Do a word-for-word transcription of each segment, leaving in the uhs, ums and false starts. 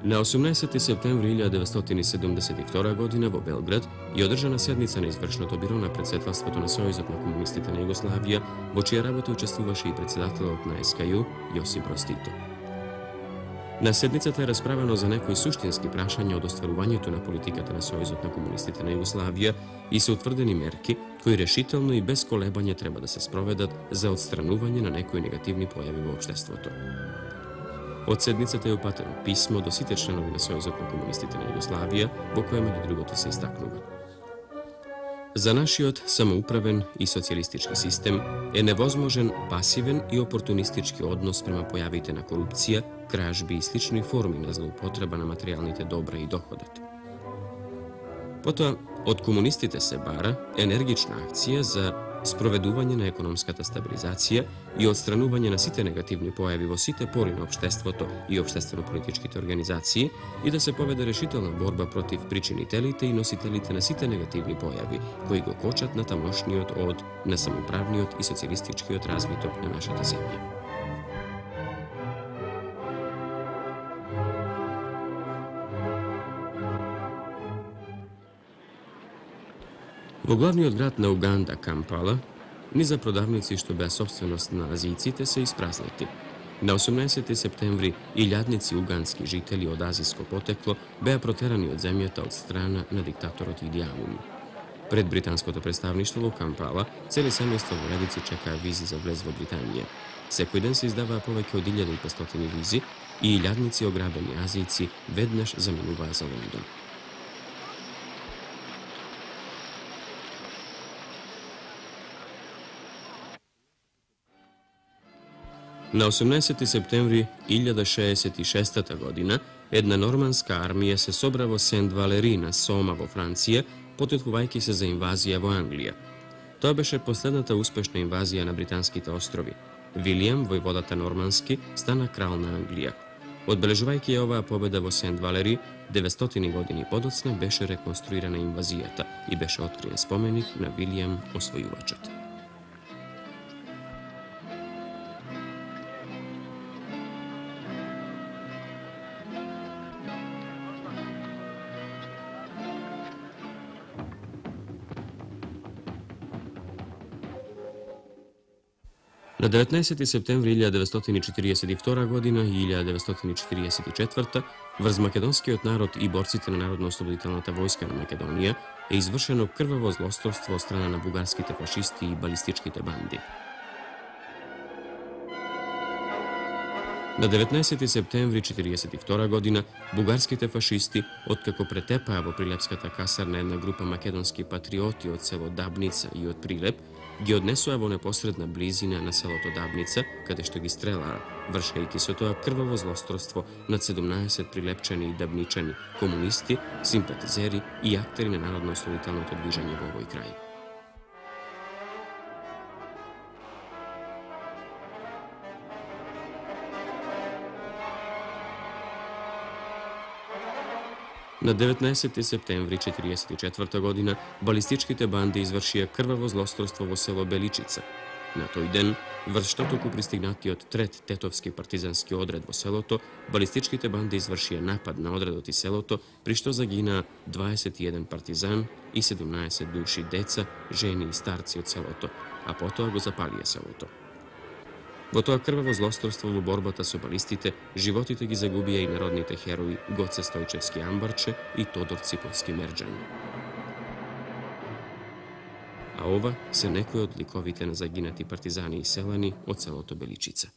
На осумнаесети септември илјада деветстотини седумдесет и втора година во Белград е одржана седница на извршното биро на председателството на Сојузот на комунистите на Југославија, во чија работа учествуваше и председателот на ес ка ју Јосип Броз Тито. На седницата е расправено за некои суштински прашања од остварувањето на политиката на Сојузот на комунистите на Југославија и се утврдени мерки кои решително и без колебање треба да се спроведат за отстранување на некои негативни појави во општеството. Од седницата е упатено писмо до сите членови на Сојузот на комунистите на Југославија, во кое меѓу другото се истакнува: за нашиот самоуправен и социјалистички систем е невозможен пасивен и опортунистички однос према појавите на корупција, кражби и слични форми на злоупотреба на материјалните добра и доходот. Потоа, од комунистите се бара енергична акција за спроведување на економската стабилизација и отстранување на сите негативни појави во сите пори на општеството и општествено-политичките организации и да се поведе решителна борба против причинителите и носителите на сите негативни појави кои го кочат на тамошниот од на самоуправниот и социјалистичкиот развиток на нашата земја. Во главниот град на Уганда, Кампала, низа продавници што беа собственост на азијците се испразнети. На осумнаесети септември илјадници угански жители од азиско потекло беа протерани од земјата од страна на диктаторот Иди Амин. Пред британското представништво во Кампала, цели семејства во редици чекаа визи за влез во Британија. Секој ден се издаваа повеќе од илјада и петстотини визи и илјадници ограбени азијци веднаш заминуваа за Лондон. На осумнаесети септември илјада шеесет и шеста година една норманска армија се собра во Сент Валери на Сома во Франција, подготвувајќи се за инвазија во Англија. Тоа беше последната успешна инвазија на британските острови. Вилијам, војводата нормански, стана крал на Англија. Одбележувајќи ја оваа победа во Сент Валери, деветстотини години подоцна беше реконструирана инвазијата и беше откриен споменик на Вилијам освојувачот. На деветнаесети септември илјада деветстотини четиридесет и втора година и илјада деветстотини четиридесет и четврта врз македонскиот народ и борците на Народно-ослободителната војска на Македонија е извршено крваво злосторство од страна на бугарските фашисти и балистичките банди. На деветнаесети септември четиридесет и втора година бугарските фашисти, откако претепаа во Прилепската касарна една група македонски патриоти од село Дабница и од Прилеп, ги однесоа во непосредна близина на селото Дабница, каде што ги стрелаа, вршејќи со тоа крваво злосторство над седумнаесет прилепчани и дабничани, комунисти, симпатизери и актери на народно-ослободителното движење во овој крај. На деветнаесети септември четиридесет и четврта година балистичките банди извршија крваво злосторство во село Беличица. На тој ден, врз штотоку пристигнатиот трет тетовски партизански одред во селото, балистичките банди извршија напад на одредот и селото, при што загинаа дваесет и еден партизан и седумнаесет души деца, жени и старци од селото, а потоа го запалија селото. Во тоа крваво злосторство во борбата со балистите, животите ги загубија и народните херои Гоце Стојчевски Амбарче и Тодор Циповски Мерџан. А ова се некои од ликовите на загинати партизани и селани од селото Беличица.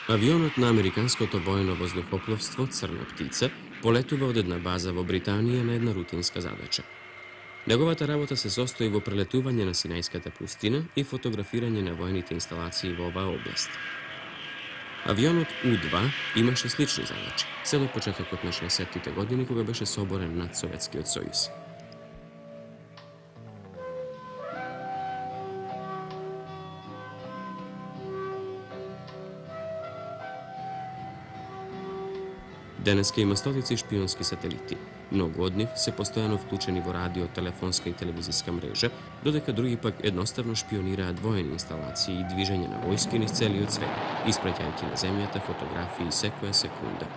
Авионот на американското воено воздухопловство Црна птица полетува од една база во Британија на една рутинска задача. Неговата работа се состои во прелетување на Синајската пустина и фотографирање на воените инсталации во оваа област. Авионот У два имаше слични задачи, се до почетокот на шеесеттите години кога беше соборен над Советскиот сојуз. Денеска има стотици шпионски сателити. Многу од нив се постојано вклучени во радио, телефонска и телевизиска мрежа, додека други пак едноставно шпионираат воени инсталации и движење на војски низ целиот свет, испраќајќи на земјата фотографии секоја секунда.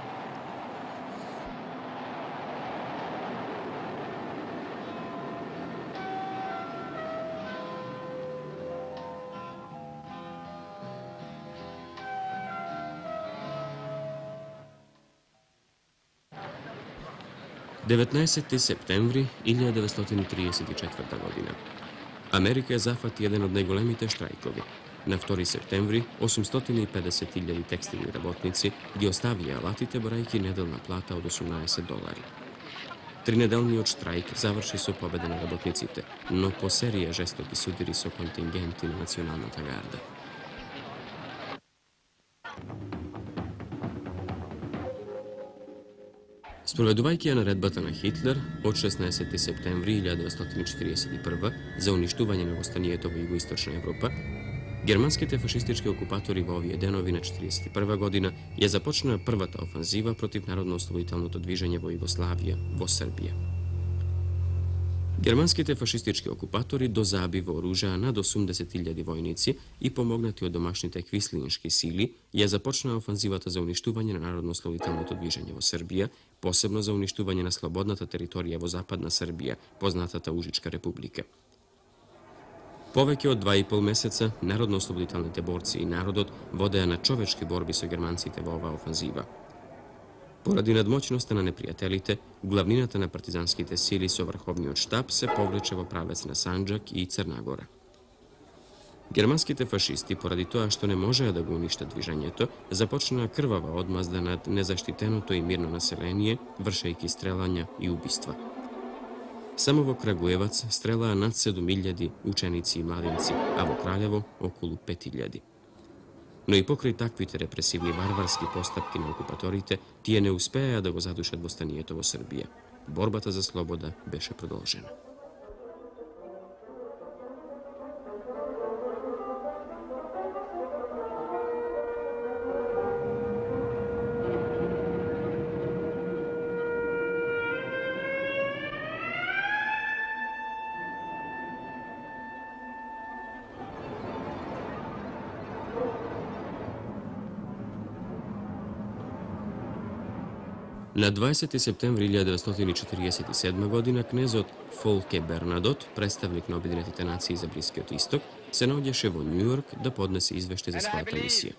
деветнаесетти септември илјада деветстотини триесет и четврта година. Америка ја зафати еден од најголемите штрајкови. На втори септември осумстотини и педесет илјади текстилни работници ги оставија алатите борајќи неделна плата од осумнаесет долари. Тринеделниот штрајк заврши со победа на работниците, но по серија жестоки судири со контингенти на националната гарда. Спроведувајќи ја наредбата на Хитлер од шеснаесетти септември илјада деветстотини четиридесет и прва за уништување на востанието во Југоисточна Европа, германските фашистички окупатори во овие денови на четиридесет и прва година ја започнаа првата офанзива против народно-ослободителното движење во Југославија, во Србија. Германските фашистички окупатори дозаби вооружаа над осумдесет илјади војници и помогнати од домашните квислиншки сили ја започнаа офанзивата за уништување на народно-ослободителното движење во Србија, посебно за уништување на слободната територија во Западна Србија, познатата Ужичка република. Повеќе од два и пол месеца народно-ослободителните борци и народот водеа на човечки борби со германците во оваа офанзива. Поради надмоќноста на непријателите, главнината на партизанските сили со врховниот штаб се повлече во правец на Санџак и Црна Гора. Германските фашисти, поради тоа што не можеа да го уништат движењето, започнаа крвава одмазда над незаштитеното и мирно население, вршејќи стрелања и убиства. Само во Крагуевац стрелаа над седум илјади ученици и младенци, а во Краљево околу пет илјади. Но и покрај таквите репресивни варварски постапки на окупаторите, тие не успеа да го задушат востанието во Србија. Борбата за слобода беше продолжена. На дваесети септември илјада деветстотини четиридесет и седма година кнезот Фолке Бернадот, представник на Обединетите нации за Блискиот Исток, се наоѓаше во Њујорк да поднесе извештај за својата мисија.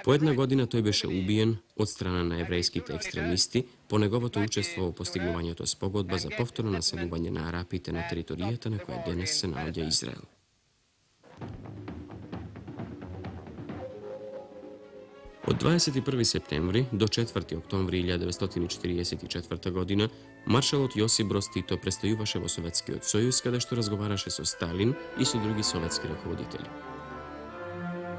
По една година тој беше убиен од страна на еврејските екстремисти по неговото учество во постигнувањето спогодба за повторно населување на арапите на територијата на која денес се наоѓа Израел. Од дваесет и први септември до четврти октомври илјада деветстотини четиридесет и четврта година маршалот Јосип Броз Тито престојуваше во Советскиот сојуз, каде што разговараше со Сталин и со други советски раководители.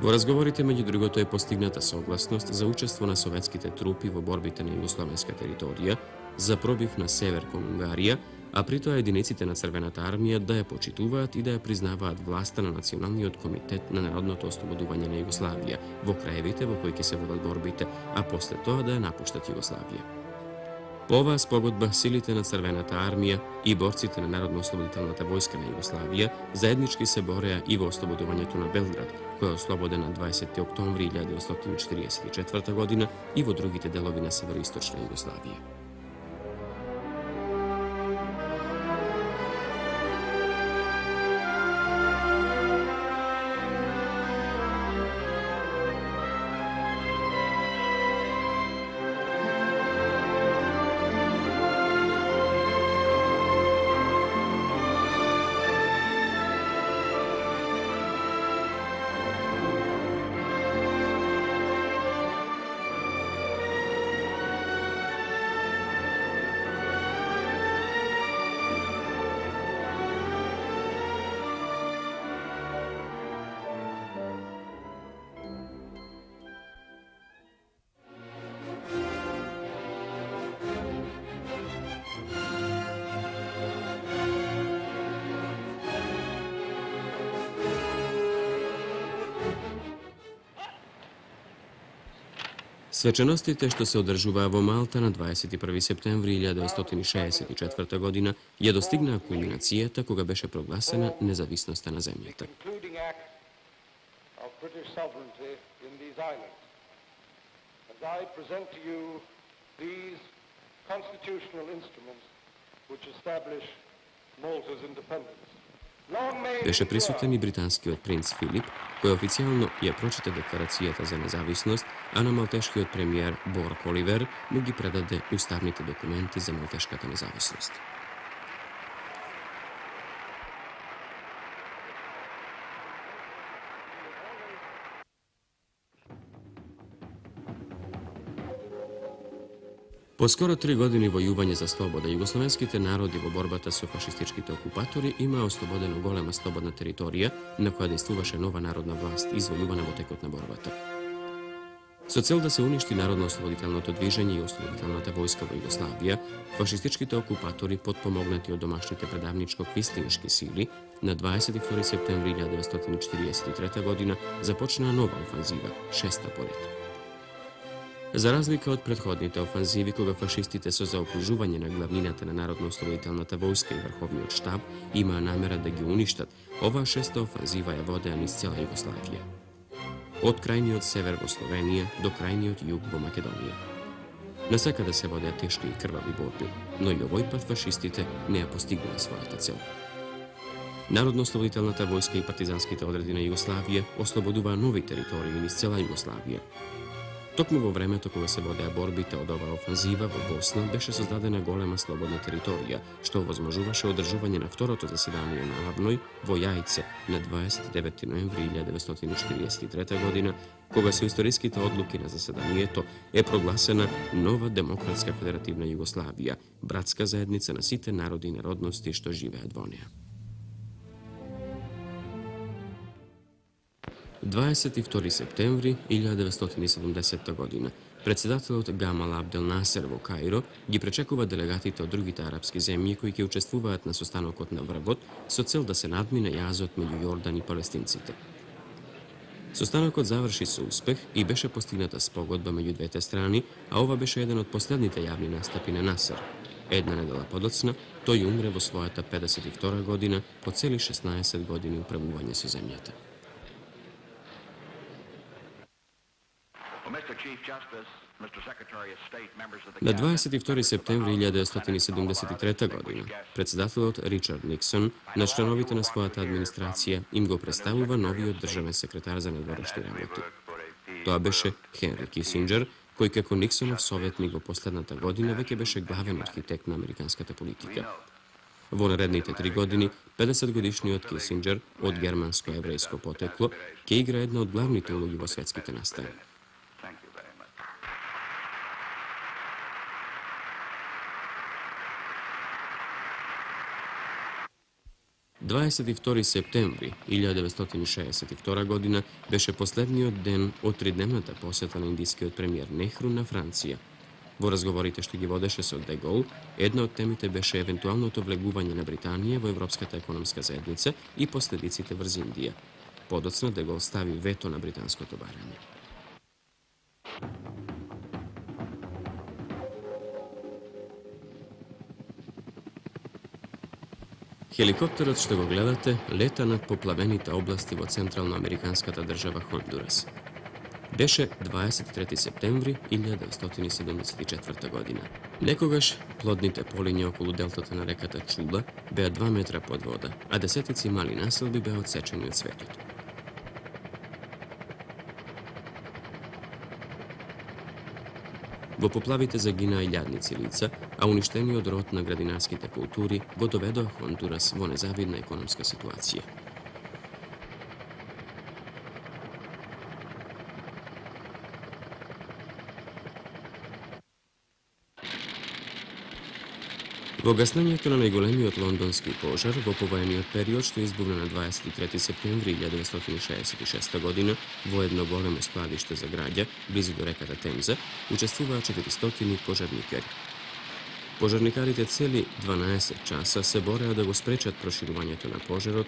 Во разговорите меѓу другото е постигната согласност за учество на советските трупи во борбите на југословенска територија, за пробив на север кон Унгарија, а при тоа единиците на Црвената армија да ја почитуваат и да ја признаваат власта на Националниот комитет на народното ослободување на Југославија во краевите во кои ќе се водат борбите, а после тоа да ја напуштат Југославија. По оваа спогодба силите на Црвената армија и борците на Народно-ослободителната војска на Југославија заеднички се бореа и во ослободувањето на Белград, кој е ослободен на дваесети октомври илјада деветстотини четиридесет и четврта година и во другите делови на североисточна Југославија. Свеченостите што се одржуваа во Малта на дваесет и први септември илјада деветстотини шеесет и четврта година ја достигнаа кулминацијата кога беше прогласена независноста на земјата. Беше присутен и британскиот принц Филип, кој официјално ја прочита декларацијата за независност, а на малтешкиот премиер Борг Оливер му ги предаде уставните документи за малтешката независност. По скоро три години војување за слобода, југословенските народи во борбата со фашистичките окупатори имаа ослободено голема слободна територија на која действуваше нова народна власт, извојувана во текот на борбата. Со цел да се уништи народно-ослободителното движење и ослободителната војска во Југославија, фашистичките окупатори, потпомогнати од домашните предавничко-квистинишки сили, на дваесет и втори септември илјада деветстотини четиридесет и трета година започнаа нова офанзива, шеста по ред. За разлика од претходните офанзиви, кога фашистите со заокружување на главнината на Народно-ослободителната војска и Врховниот штаб имаа намера да ги уништат, оваа шеста офанзива ја водеа низ цела Југославија. Од крајниот север во Словенија до крајниот југ во Македонија. Насекаде се водеа тешки и крвави борби, но и овој пат фашистите не ја постигнаа својата цел. Народно-ослободителната војска и партизанските одреди на Југославија ослободуваа нови територии низ цела Југославија. Токму во времето кога се водеа борбите од оваа офанзива во Босна беше создадена голема слободна територија, што овозможуваше одржување на второто заседание на Авној во Јајце на дваесет и деветти ноември илјада деветстотини четиридесет и трета година, кога со историските одлуки на заседанието е прогласена нова демократска федеративна Југославија, братска заедница на сите народи и народности што живеат во неа. дваесет и втори септември илјада деветстотини седумдесетта година, председателот Гамал Абдел Насер во Каиро ги пречекува делегатите од другите арапски земји кои ќе учествуваат на состанокот на врвот со цел да се надмине јазот меѓу Јордан и палестинците. Состанокот заврши со успех и беше постигната спогодба меѓу двете страни, а ова беше еден од последните јавни настапи на Насер. Една недела подоцна, тој умре во својата педесет и втора година по цели шеснаесет години управување со земјата. На дваесет и втори септември илјада деветстотини седумдесет и трета година, председателот Ричард Никсон на членовите на својата администрација им го представува новиот државен секретар за надворешни работи. Тоа беше Хенри Кисинџер, кој како Никсонов советник во последната година веќе беше главен архитект на американската политика. Во наредните три години, педесет годишниот Кисинџер од германско-еврејско потекло ќе игра една од главните улоги во светските настани. дваесет и втори септември илјада деветстотини шеесет и втора година беше последниот ден од тридневната посета на индискиот премиер Нехру на Франција. Во разговорите што ги водеше со Де Гол, една од темите беше евентуалното влегување на Британија во Европската економска заедница и последиците врз Индија. Подоцна Де Гол стави вето на британското барање. Хеликоптерот што го гледате лета над поплавените области во централно-американската држава Хондурас. Беше дваесет и трети септември илјада деветстотини седумдесет и четврта година. Некогаш плодните полиња околу делтата на реката Чула беа два метра под вода, а десетици мали населби беа одсечени од светот. Во поплавите загинаа илјадници лица, а уништениот род на градинарските култури го доведоа Хондурас во незавидна економска ситуација. Во гаснењето на најголемиот лондонски пожар во повоениот период што избувна на дваесет и трети септември илјада деветстотини шеесет и шеста година во едно големо складиште за граѓа близу до реката Темза учествуваа четиристотини пожарникари. Пожарникарите цели дванаесет часа се бореа да го спречат проширувањето на пожарот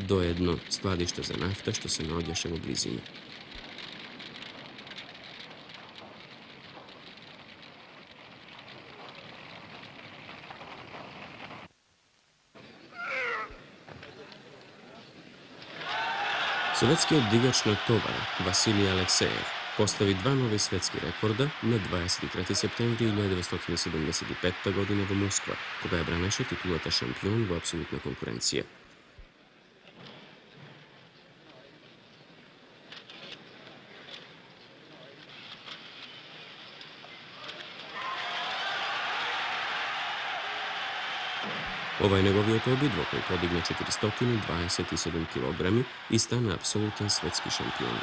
до едно складиште за нафта што се наоѓаше во близина. Советскиот дигач на товар Василий Алексеев постави два нови светски рекорда на дваесет и трети септември илјада деветстотини седумдесет и петта година во Москва, кога ја бранеше титулата шампион во апсолутна конкуренција. Ова е неговиот обид во кој подигна четиристотини дваесет и седум килограми и стана апсолутен светски шампион.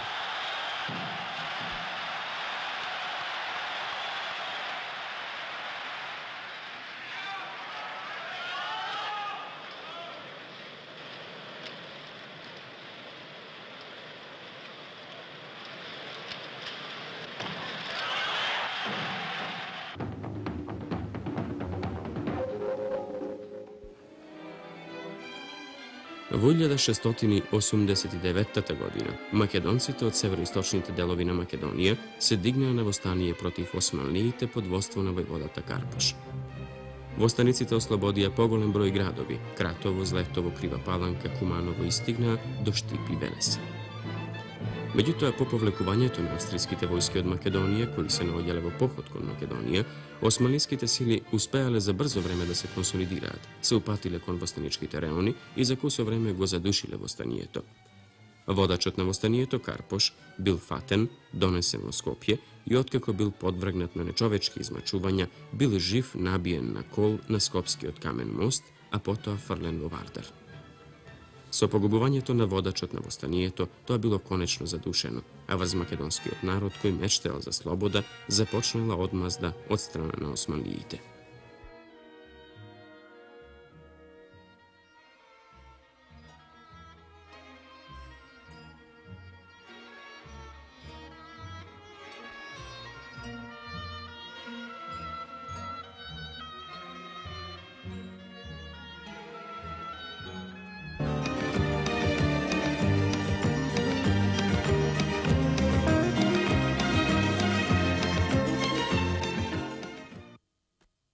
Во илјада шестстотини осумдесет и деветта година, македонците од североисточните делови на Македонија се дигнаа на востание против османлиите под воство на војводата Карпош. Востаниците ослободија поголем број градови: Кратово, Злетово, Крива Паланка, Куманово и стигнаа до Штип и Велес. Меѓутоа, по повлекувањето на австриските војски од Македонија, кои се наоѓале во поход кон Македонија, османлиските сили успеале за брзо време да се консолидираат, се упатиле кон востаничките реони и за кусо време го задушиле востанието. Водачот на востанието, Карпош, бил фатен, донесен во Скопје и откако бил подвргнат на нечовечки измачувања, бил жив набиен на кол на Скопскиот камен мост, а потоа фрлен во Вардар. Со погубувањето на водачот на востанието, тоа било конечно задушено, а врз македонскиот народ кој мечтаел за слобода, започнала одмазда од страна на османлиите.